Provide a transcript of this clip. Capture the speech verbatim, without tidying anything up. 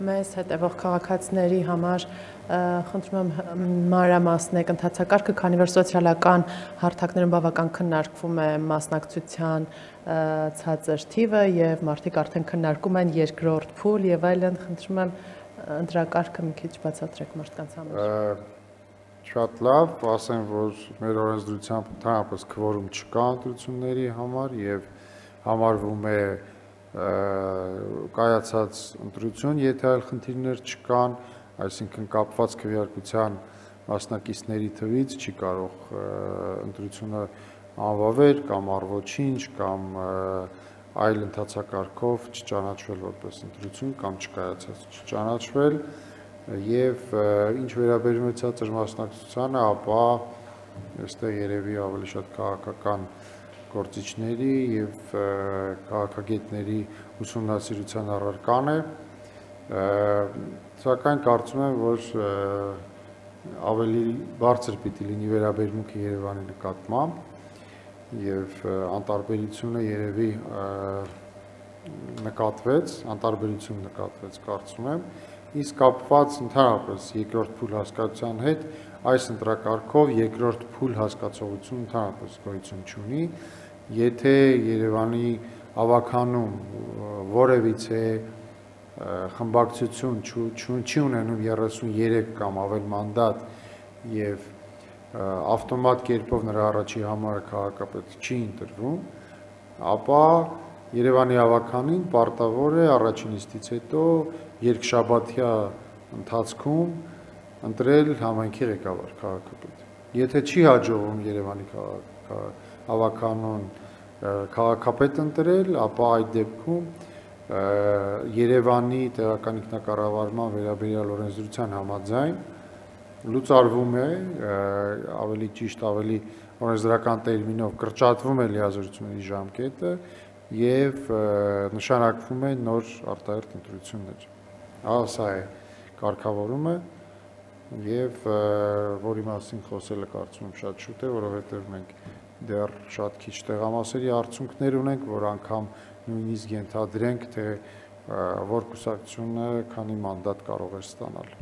մեզ հետևող քաղաքացիների համար խնդրում եմ մանրամասնեք ընթացակարգը, քանի որ սոցիալական հարթակներում բավական քննարկվում է մասնակցության ցածր թիվը եւ մարդիկ արդեն քննարկում են երկրորդ փուլ եւ այլն, խնդրում եմ ընտրակարգը մի քիչ բացատրեք մարդկանց համար։ Շատ լավ, ասեմ, որ մեր օրենսդրությամբ ընդհանրապես քվորում չկա ընտրությունների համար եւ համարվում է կայացած ընտրություն, եթե այլ խնդիրներ չկան, այսինքն կապված քվեարկության մասնակիցների թվից չի կարող ընտրությունը անվավել կամ առ-ոչինչ կամ այլ ընթացակարգով չճանաչվել որպես ընտրություն կամ չկայացած չճանաչվել եւ ինչ վերաբերում է ցածր մասնակցությանը, ապա այստեղ երևի ավելի շատ քաղաքական գործիչների եւ քաղաքագետների ուսումնասիրության առարկան է, սակայն կարծում եմ, որ ավելի բարձր պիտի լինի վերաբերմունքը Երևանի նկատմամբ եւ անտարբերությունը երևի նկատվեց, անտարբերություն նկատվեց, կարծում եմ, իսկ կապված ընդհանրապես երկրորդ փուլ հասկացության հետ այս ընտրակարգով երկրորդ փուլ հասկացողություն ընդհանրապես գոյություն չունի, եթե Երևանի ավագանում որևիցե խմբակցություն չի ունենում երեսունյերեք կամ ավել մանդատ եւ ավտոմատ կերպով նրա առաջի համարը քաղաքապետ չի ընտրվում, ապա Երևանի ավականին պարտավոր է առաջին նիստից հետո երկշաբաթյա ընթացքում ընտրել համայնքի ղեկավար քաղաքապետ։ Եթե չի հաջողվում Երևանի ավականուն քաղաքապետ ընտրել, ապա այդ դեպքում Երևանի տեղական ինքնակառավարման վերաբերյալ օրենսդրության համաձայն լուծարվում է, ավելի ճիշտ, ավելի օրենսդրական տերմինով կրճատվում է լիազորությունների ժամկետը եւ նշանակվում է նոր արտահերթ ընտրություններ։ Սա է կարգավորումը եւ որի մասին խոսելը կարծում եմ շատ շուտ է, որովհետեւ մենք դեռ շատ քիչ տեղամասերի արդյունքներ ունենք, որ անգամ նույնիսկ ենթադրենք, թե որ կուսակցությունը քանի մանդատ կարող է ստանալ։